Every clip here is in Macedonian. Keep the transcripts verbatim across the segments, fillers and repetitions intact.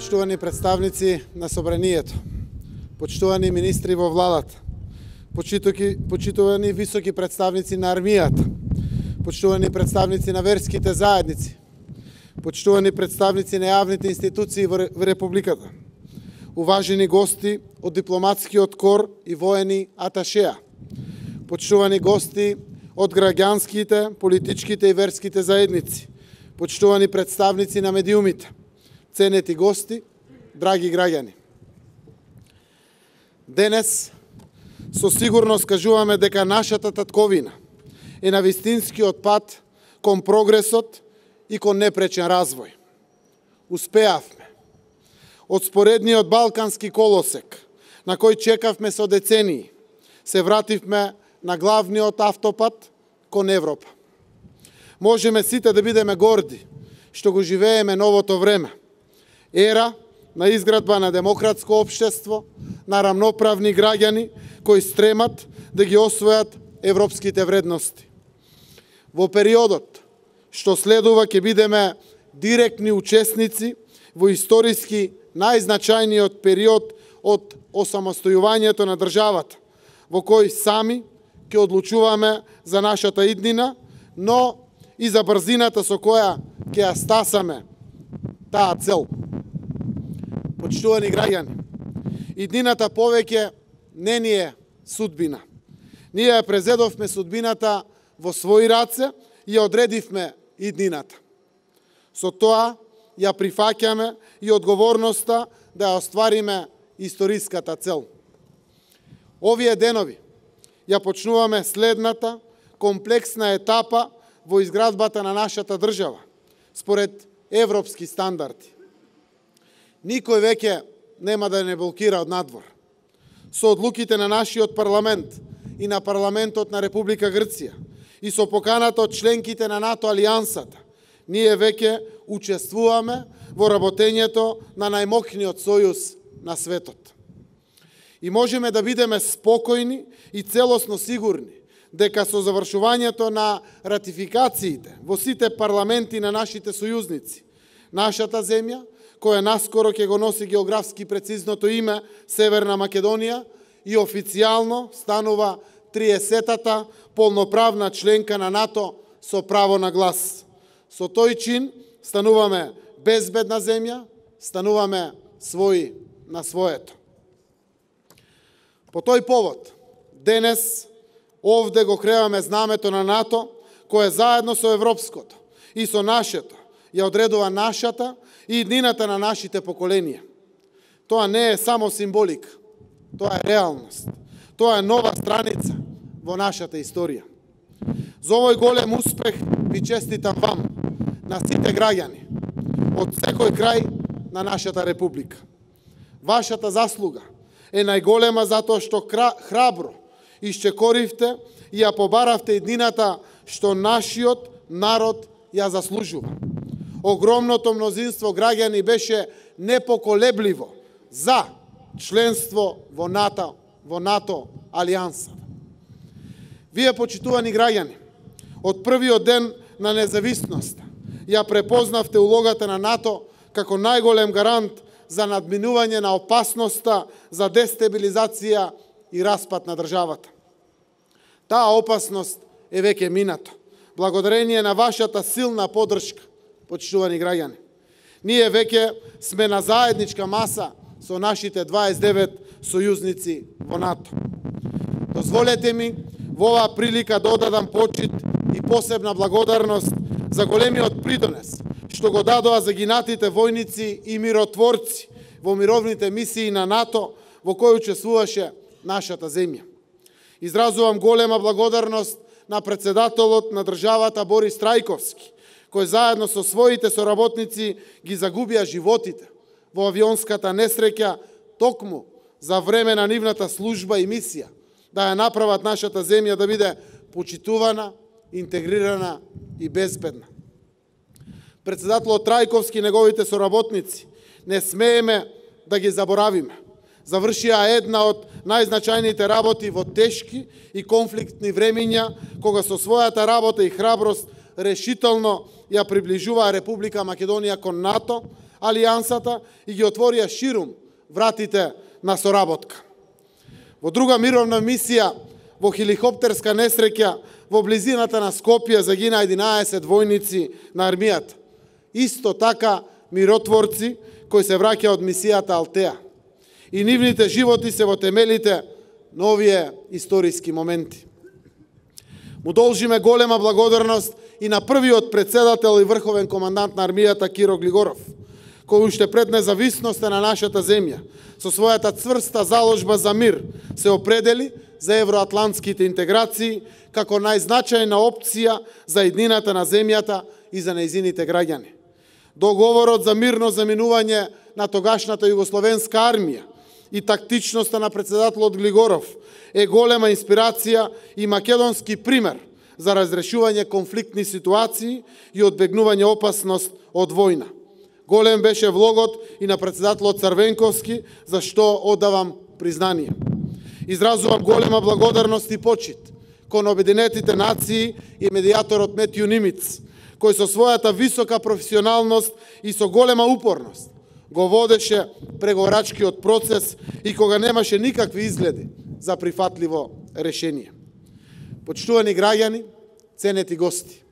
Почитувани представници на собранието, почитувани министри во владата, почитувани високи представници на армијата, почитувани представници на верските заедници, почитувани представници на јавните институции во Републиката, уважени гости од дипломатскиот кор и воени аташеа, почитувани гости од граѓанските, политичките и верските заедници, почитувани представници на медиумите, ценети гости, драги граѓани. Денес со сигурност кажуваме дека нашата татковина е на вистинскиот пат кон прогресот и кон непречен развој. Успеавме. Од споредниот балкански колосек, на кој чекавме со децении, се вративме на главниот автопат кон Европа. Можеме сите да бидеме горди што го живееме новото време. Ера на изградба на демократско општество, на рамноправни граѓани кои стремат да ги освојат европските вредности. Во периодот што следува ќе бидеме директни учесници во историски најзначајниот период од осамостојувањето на државата, во кој сами ќе одлучуваме за нашата иднина, но и за брзината со која ќе ја стасаме таа цел. Почитувани граѓани, иднината повеќе не ни е судбина. Ние ја презедовме судбината во своји раце и ја одредивме иднината. Со тоа ја прифаќаме и одговорноста да ја оствариме историската цел. Овие денови ја почнуваме следната комплексна етапа во изградбата на нашата држава, според европски стандарди. Никој веќе нема да не блокира од надвор. Со одлуките на нашиот парламент и на парламентот на Република Грција и со поканата од членките на НАТО алијансата, ние веќе учествуваме во работењето на најмокниот сојуз на светот. И можеме да бидеме спокојни и целосно сигурни дека со завршувањето на ратификациите во сите парламенти на нашите сојузници, нашата земја, која наскоро ќе го носи географски прецизното име Северна Македонија и официјално станува триесетата полноправна членка на НАТО со право на глас. Со тој чин стануваме безбедна земја, стануваме своји на своето. По тој повод, денес овде го креаме знамето на НАТО, кое заедно со европското и со нашето ја одредува нашата и иднината на нашите поколенија. Тоа не е само символика, тоа е реалност. Тоа е нова страница во нашата историја. За овој голем успех ви честитам вам, на сите граѓани, од секој крај на нашата република. Вашата заслуга е најголема затоа што храбро исчекоривте и ја побаравте иднината што нашиот народ ја заслужува. Огромното мнозинство граѓани беше непоколебливо за членство во НАТО, во НАТО алијанса. Вие, почитувани граѓани, од првиот ден на независноста ја препознавте улогата на НАТО како најголем гарант за надминување на опасноста за дестабилизација и распад на државата. Таа опасност е веќе минато, благодарение на вашата силна поддршка, почитувани граѓани. Ние веќе сме на заедничка маса со нашите дваесет и девет сојузници во НАТО. Дозволете ми во оваа прилика да одадам почит и посебна благодарност за големиот придонес што го дадоа загинатите војници и миротворци во мировните мисии на НАТО во кои учествуваше нашата земја. Изразувам голема благодарност на председателот на државата Борис Трајковски, кој заедно со своите соработници ги загубија животите во авионската несреќа токму за време на нивната служба и мисија да ја направат нашата земја да биде почитувана, интегрирана и безбедна. Председателот Трајковски и неговите соработници не смееме да ги заборавиме. Завршија една од најзначајните работи во тешки и конфликтни времиња, кога со својата работа и храброст решително ја приближуваа Република Македонија кон НАТО, алијансата и ги отворија ширум вратите на соработка. Во друга мировна мисија, во хеликоптерска несреќа, во близината на Скопје загина единаесет војници на армијата. Исто така миротворци кои се враќа од мисијата Алтеа. И нивните животи се во темелите на овие историски моменти. Му должиме голема благодарност и на првиот председател и врховен командант на армијата Киро Глигоров, кој уште пред независноста на нашата земја, со својата цврста заложба за мир, се определи за евроатлантските интеграции како најзначајна опција за еднината на земјата и за нејзините граѓани. Договорот за мирно заминување на тогашната југословенска армија и тактичноста на председателот Глигоров е голема инспирација и македонски пример за разрешување конфликтни ситуации и одбегнување опасност од војна. Голем беше влогот и на председателот Црвенковски, за што одавам признание. Изразувам голема благодарност и почит кон Обединетите нации и медијаторот Метју Нимиц, кој со својата висока професионалност и со голема упорност го водеше преговорачкиот процес и кога немаше никакви изгледи за прифатливо решение. Почитувани граѓани, ценети гости,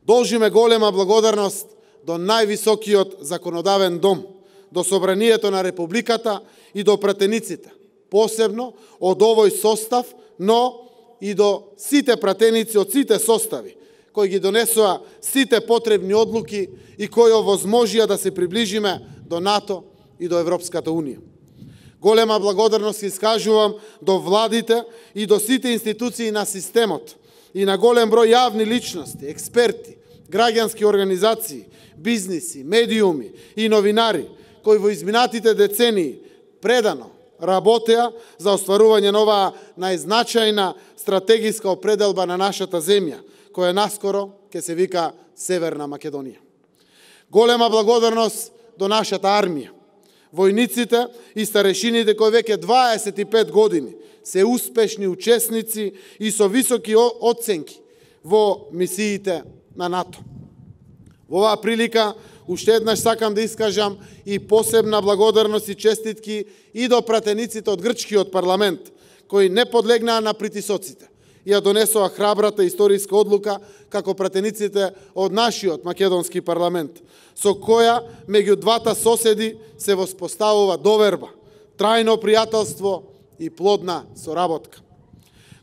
должиме голема благодарност до највисокиот законодавен дом, до Собранието на Републиката и до пратениците, посебно од овој состав, но и до сите пратеници од сите состави, кои ги донесоа сите потребни одлуки и кои овозможија да се приближиме до НАТО и до Европската Унија. Голема благодарност искажувам до владите и до сите институции на системот и на голем број јавни личности, експерти, граѓански организации, бизниси, медиуми и новинари, кои во изминатите децении предано работеа за остварување на оваа најзначајна стратегиска определба на нашата земја, која наскоро ќе се вика Северна Македонија. Голема благодарност до нашата армија, војниците и старешините кои веќе дваесет и пет години се успешни учесници и со високи оценки во мисиите на НАТО. Во оваа прилика уште еднаш сакам да искажам и посебна благодарност и честитки и до пратениците од грчкиот парламент, кои не подлегнаа на притисоците и ја донесоа храбрата историска одлука како пратениците од нашиот македонски парламент, со која меѓу двата соседи се воспоставува доверба, трајно пријателство и плодна соработка.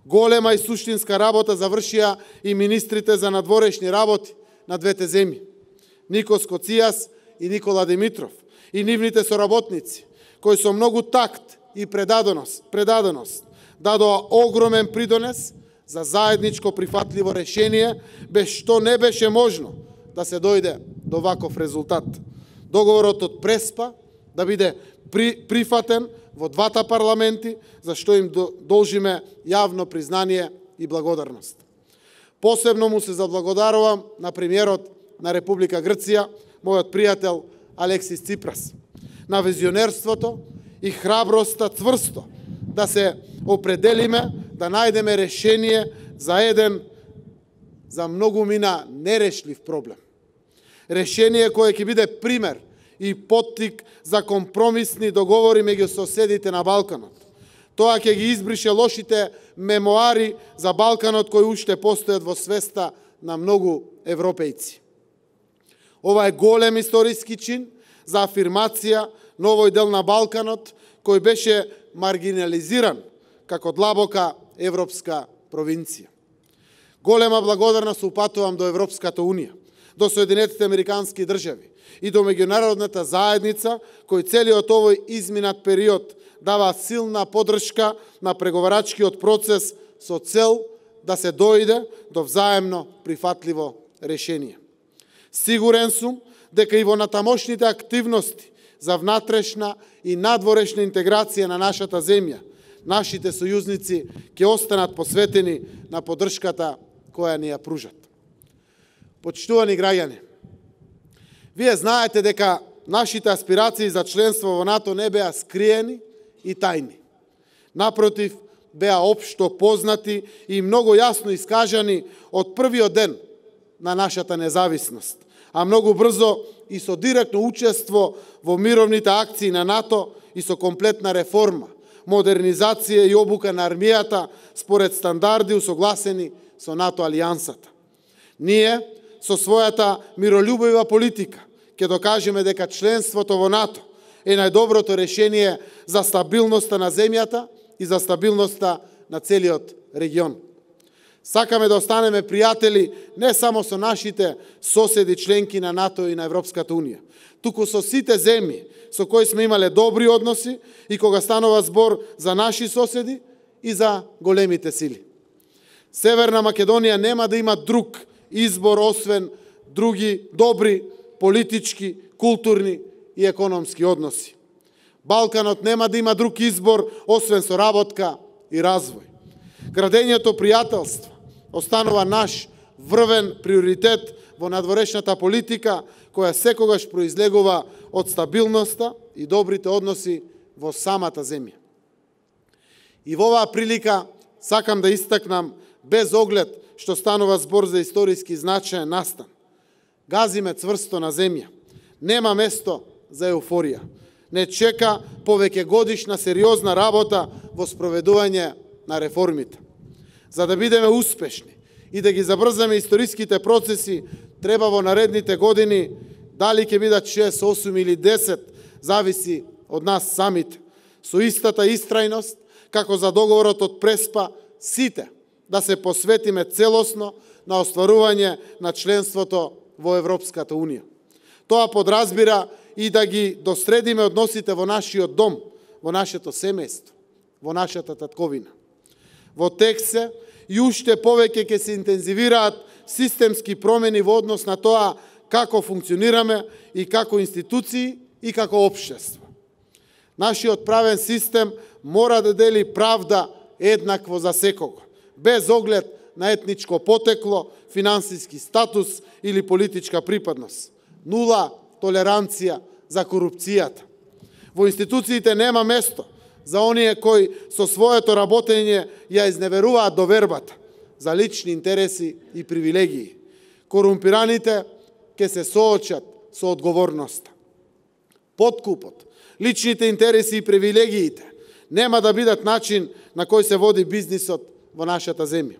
Голема и суштинска работа завршија и министрите за надворешни работи на двете земји, Никос Коцијас и Никола Димитров, и нивните соработници, кои со многу такт и предаденост, предаденост дадоа огромен придонес за заедничко прифатливо решение, без што не беше можно да се дојде до ваков резултат. Договорот од Преспа да биде при, прифатен во двата парламенти, за што им должиме јавно признание и благодарност. Посебно му се заблагодарувам на премиерот на Република Грција, мојот пријател Алексис Ципрас, на визионерството и храброста цврсто да се определиме, да најдеме решение за еден за многу мина нерешлив проблем. Решение кое ќе биде пример и поттик за компромисни договори меѓу соседите на Балканот. Тоа ќе ги избрише лошите мемоари за Балканот кои уште постојат во свеста на многу европејци. Ова е голем историски чин за афирмација на овој дел на Балканот кој беше маргинализиран како длабока европска провинција. Голема благодарност упатувам до Европската Унија, до Соединетите Американски држави и до меѓународната заедница кој целиот овој изминат период дава силна поддршка на преговарачкиот процес со цел да се дојде до взаемно прифатливо решение. Сигурен сум дека и во натамошните активности за внатрешна и надворешна интеграција на нашата земја, нашите сојузници ќе останат посветени на поддршката која ни ја пружат. Почитувани граѓани, вие знаете дека нашите аспирации за членство во НАТО не беа скриени и тајни. Напротив, беа општо познати и многу јасно искажани од првиот ден на нашата независност, а многу брзо и со директно учество во мировните акции на НАТО и со комплетна реформа, модернизација и обука на армијата според стандарди усогласени со НАТО алијансата. Ние, со својата миролюбива политика, ќе докажеме дека членството во НАТО е најдоброто решение за стабилноста на земјата и за стабилноста на целиот регион. Сакаме да останеме пријатели не само со нашите соседи членки на НАТО и на Европската Унија, туку со сите земји со кои сме имале добри односи и кога станува збор за наши соседи и за големите сили. Северна Македонија нема да има друг избор освен други добри политички, културни и економски односи. Балканот нема да има друг избор освен соработка и развој. Градењето пријателство останува наш врвен приоритет во надворешната политика, која секогаш произлегува од стабилноста и добрите односи во самата земја. И во оваа прилика сакам да истакнам, без оглед што станува збор за историски значаен настан. Газиме цврсто на земја. Нема место за еуфорија. Не чека повеќе годишна сериозна работа во спроведување на реформите. За да бидеме успешни и да ги забрзаме историските процеси, треба во наредните години, дали ќе бидат шест, осум или десет, зависи од нас самите, со истата истрајност, како за договорот од Преспа, сите да се посветиме целосно на остварување на членството во Европската Унија. Тоа подразбира и да ги достредиме односите во нашиот дом, во нашето семејство, во нашата татковина. Во тек се и уште повеќе ќе се интензивираат системски промени во однос на тоа како функционираме и како институции и како општество. Нашиот правен систем мора да дели правда еднакво за секого, без оглед на етничко потекло, финансиски статус или политичка припадност. Нула толеранција за корупцијата. Во институциите нема место за оние кои со своето работење ја изневеруваат довербата за лични интереси и привилегии. Корумпираните ќе се соочат со одговорноста. Подкупот, личните интереси и привилегиите нема да бидат начин на кој се води бизнисот во нашата земја.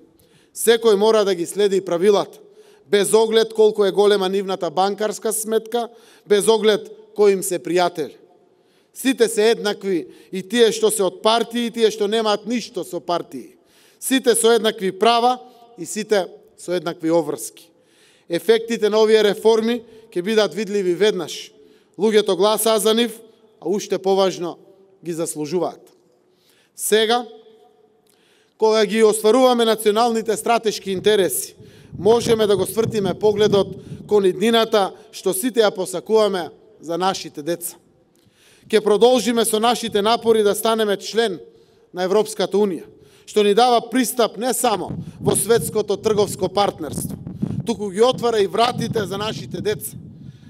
Секој мора да ги следи правилата, без оглед колку е голема нивната банкарска сметка, без оглед кои им се пријатели. Сите се еднакви, и тие што се од партии, и тие што немаат ништо со партии. Сите со еднакви права и сите со еднакви обврски. Ефектите на овие реформи ќе бидат видливи веднаш. Луѓето гласаа за нив, а уште поважно ги заслужуваат. Сега, кога ги остваруваме националните стратешки интереси, можеме да го свртиме погледот кон иднината што сите ја посакуваме за нашите деца. Ке продолжиме со нашите напори да станеме член на Европската Унија, што ни дава пристап не само во светското трговско партнерство, туку ги отвара и вратите за нашите деца,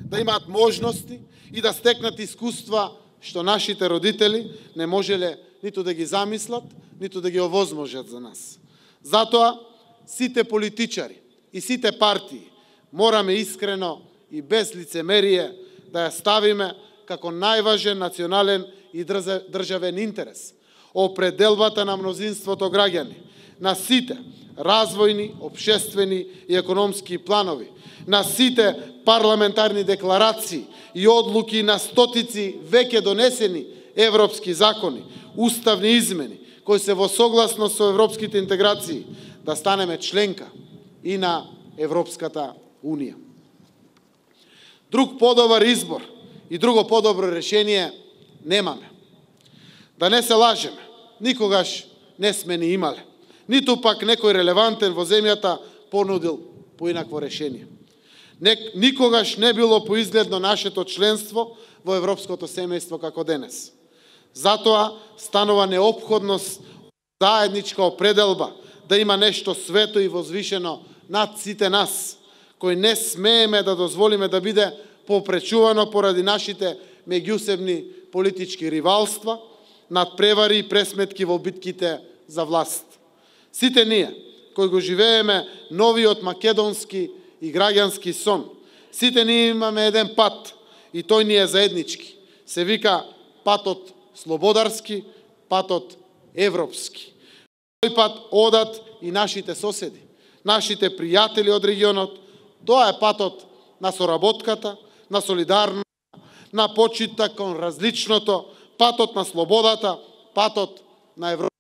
да имаат можности и да стекнат искуства што нашите родители не можеле ниту да ги замислат, ниту да ги овозможат за нас. Затоа, сите политичари и сите партии мораме искрено и без лицемерие да ја ставиме како најважен национален и државен интерес, определбата на мнозинството граѓани, на сите развојни, општествени и економски планови, на сите парламентарни декларации и одлуки на стотици веќе донесени европски закони, уставни измени, кои се во согласност со европските интеграции, да станеме членка и на Европската Унија. Друг подобар избор и друго подобро решение немаме. Да не се лажеме, никогаш не сме ни имале, ниту пак некој релевантен во земјата понудил поинакво решение. Никогаш не било поизгледно нашето членство во европското семејство како денес. Затоа станува неопходност заедничка определба да има нешто свето и возвишено над сите нас, кои не смееме да дозволиме да биде попречувано поради нашите меѓусебни политички ривалства, надпревари и пресметки во битките за власт. Сите ние, кои го живееме новиот македонски и граѓански сон, Сите ние имаме еден пат и тој ни е заеднички. Се вика патот слободарски, патот европски. Тој пат одат и нашите соседи, нашите пријатели од регионот. Тоа е патот на соработката, на солидарност, на почита кон различното, патот на слободата, патот на Европа.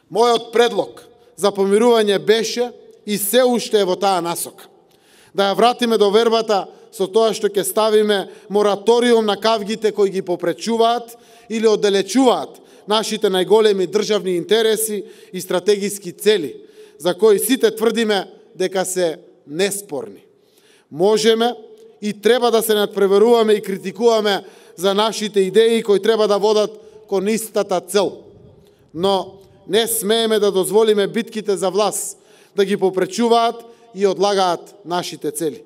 Мојот предлог за помирување беше и се уште е во таа насока. Да ја вратиме до вербата со тоа што ќе ставиме мораториум на кавгите кои ги попречуваат или оддалечуваат нашите најголеми државни интереси и стратегиски цели, за кои сите тврдиме дека се неспорни. Можеме и треба да се надпреваруваме и критикуваме за нашите идеи кои треба да водат кон истата цел. Но не смееме да дозволиме битките за власт да ги попречуваат и одлагаат нашите цели.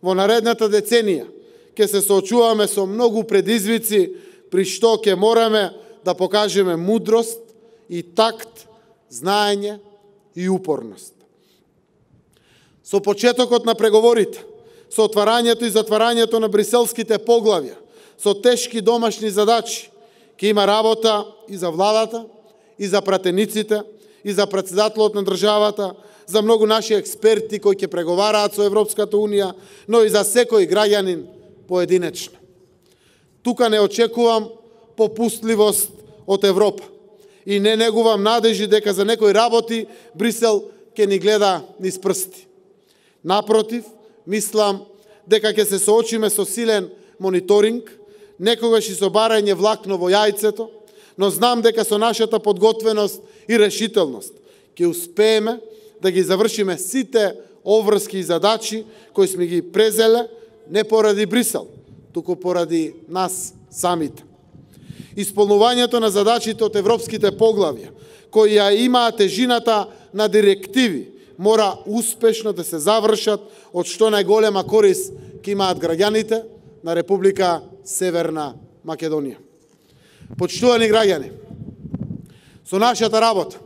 Во наредната деценија ќе се соочуваме со многу предизвици, при што ќе мораме да покажеме мудрост и такт, знаење и упорност. Со почетокот на преговорите, со отварањето и затварањето на бриселските поглавја, со тешки домашни задачи, ќе има работа и за владата, и за пратениците, и за председателот на државата, за многу наши експерти кои ќе преговараат со Европската Унија, но и за секој граѓанин поединечно. Тука не очекувам попустливост од Европа и не негувам надежи дека за некои работи Брисел ќе ни гледа низ прсти. Напротив, мислам дека ќе се соочиме со силен мониторинг, некогаш и со барање влакно во јајцето, но знам дека со нашата подготвеност и решителност ќе успееме да ги завршиме сите обврски и задачи кои сме ги презеле не поради Брисел, туку поради нас самите. Исполнувањето на задачите од европските поглавја, кои ја имаат тежината на директиви, мора успешно да се завршат, од што најголема корист ќе имаат граѓаните на Република Северна Македонија. Почитувани граѓани, со нашата работа,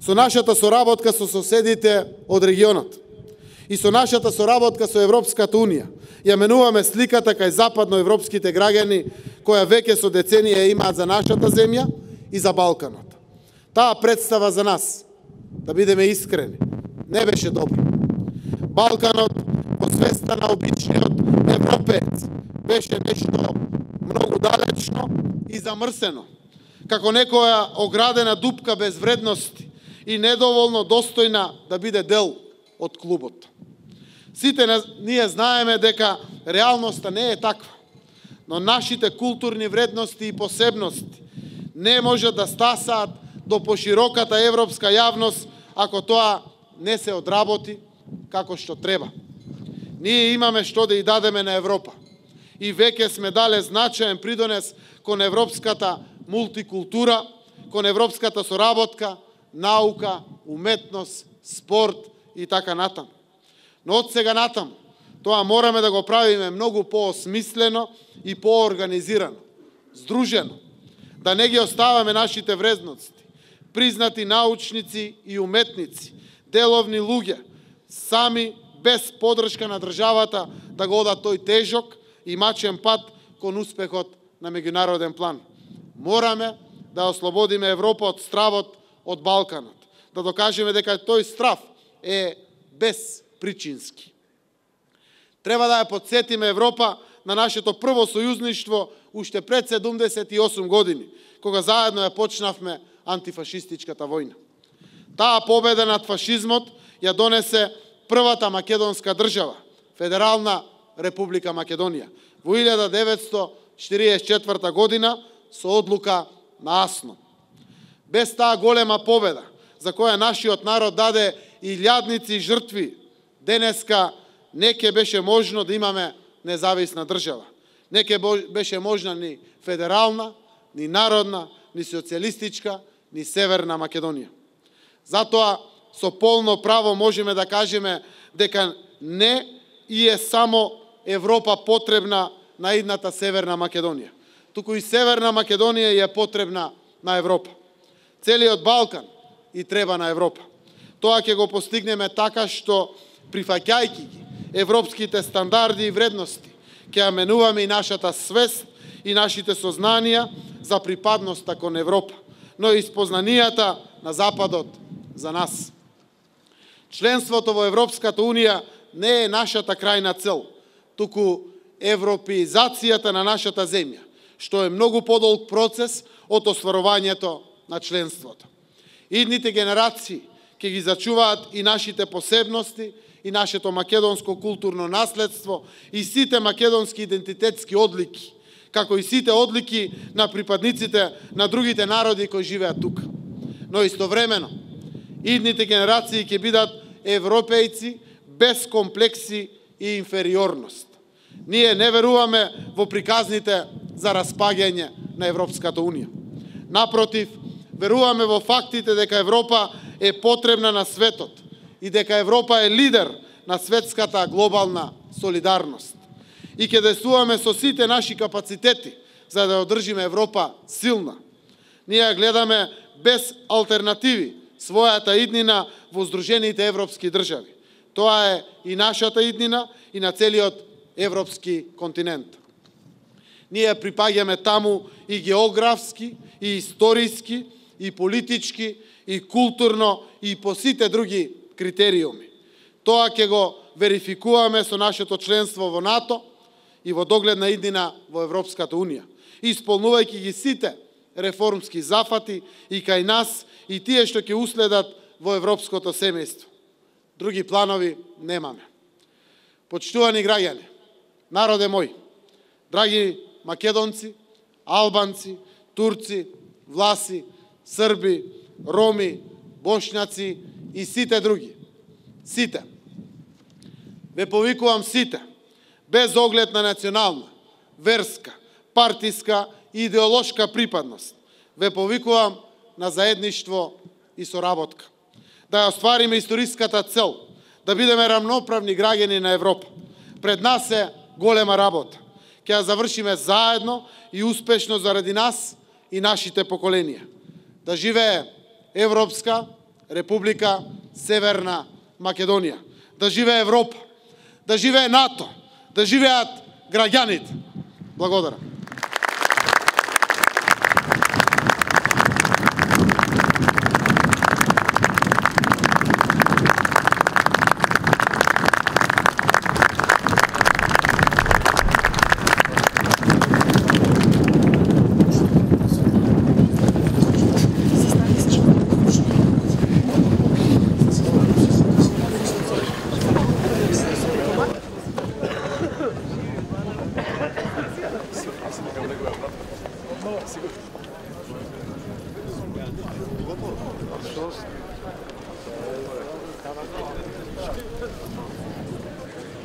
со нашата соработка со соседите од регионот и со нашата соработка со Европската Унија, ја менуваме сликата кај западноевропските граѓани која веќе со деценија имаат за нашата земја и за Балканот. Таа представа за нас, да бидеме искрени, не беше добра. Балканот, во свеста на обичниот европеец, беше нешто многу далечно и замрсено, како некоја оградена дупка без вредности и недоволно достојна да биде дел од клубот. Сите ние знаеме дека реалноста не е таква, но нашите културни вредности и посебности не можат да стасаат до пошироката европска јавност ако тоа не се одработи како што треба. Ние имаме што да и дадеме на Европа и веќе сме дале значаен придонес кон европската мултикултура, кон европската соработка, наука, уметност, спорт и така натаму. Но од сега натаму, тоа мораме да го правиме многу поосмислено и поорганизирано, здружено, да не ги оставаме нашите вредности, признати научници и уметници, деловни луѓе, сами без подршка на државата да го одат тој тежок и мачен пат кон успехот на меѓународен план. Мораме да ослободиме Европа од стравот од Балканот, да докажеме дека тој страв е безпричински. Треба да ја подсетиме Европа на нашето прво сојузништво уште пред седумдесет и осум години, кога заедно ја почнавме антифашистичката војна. Таа победа над фашизмот ја донесе првата македонска држава, Федерална Република Македонија, во илјада деветстотини четиридесет и четврта година со одлука на Асно. Без таа голема победа, за која нашиот народ даде илјадници жртви, денеска не ќе беше можно да имаме независна држава. Не ќе беше можна ни федерална, ни народна, ни социјалистичка, ни Северна Македонија. Затоа со полно право можеме да кажеме дека не и е само Европа потребна на идната Северна Македонија, туку и Северна Македонија е потребна на Европа. Целиот Балкан и треба на Европа. Тоа ќе го постигнеме така што, прифаќајќи ги европските стандарди и вредности, ќе ја менуваме и нашата свест и нашите сознанија за припадноста кон Европа, но и спознанијата на Западот за нас. Членството во Европската Унија не е нашата крајна цел, туку европеизацијата на нашата земја, што е многу подолг процес од остварувањето на членството. Идните генерации ќе ги зачуваат и нашите посебности, и нашето македонско културно наследство, и сите македонски идентитетски одлики, како и сите одлики на припадниците на другите народи кои живеат тука. Но истовремено, идните генерации ќе бидат европејци без комплекси и инфериорност. Ние не веруваме во приказните за распаѓање на Европската Унија. Напротив, веруваме во фактите дека Европа е потребна на светот и дека Европа е лидер на светската глобална солидарност. И ќе действуваме со сите наши капацитети за да одржиме Европа силна. Ние гледаме без алтернативи својата иднина во Сдружените европски држави. Тоа е и нашата иднина и на целиот европски континент. Ние припаѓаме таму и географски, и историски, и политички, и културно, и по сите други критериуми. Тоа ќе го верификуваме со нашето членство во НАТО и во догледна иднина во Европската Унија, исполнувајќи ги сите реформски зафати и кај нас и тие што ќе уследат во европското семејство. Други планови немаме. Почитувани граѓани, народе мој, драги македонци, албанци, турци, власи, срби, роми, бошњаци и сите други. Сите. Ве повикувам сите, без оглед на национална, верска, партиска и идеолошка припадност. Ве повикувам на заедништво и соработка. Да ја оствариме историската цел, да бидеме рамноправни граѓани на Европа. Пред нас е голема работа. Ќе ја завршиме заедно и успешно заради нас и нашите поколенија. Да живее Европска Република Северна Македонија. Да живее Европа. Да живее НАТО. Да живеат граѓаните. Благодарам.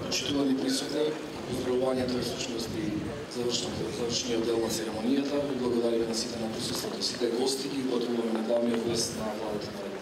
Почитувани присутни, поздравувањето е всушност и завршниот дел на церемонијата. Благодариме на сите на присуството, сите гости и потребуваме да даваме вест на владата на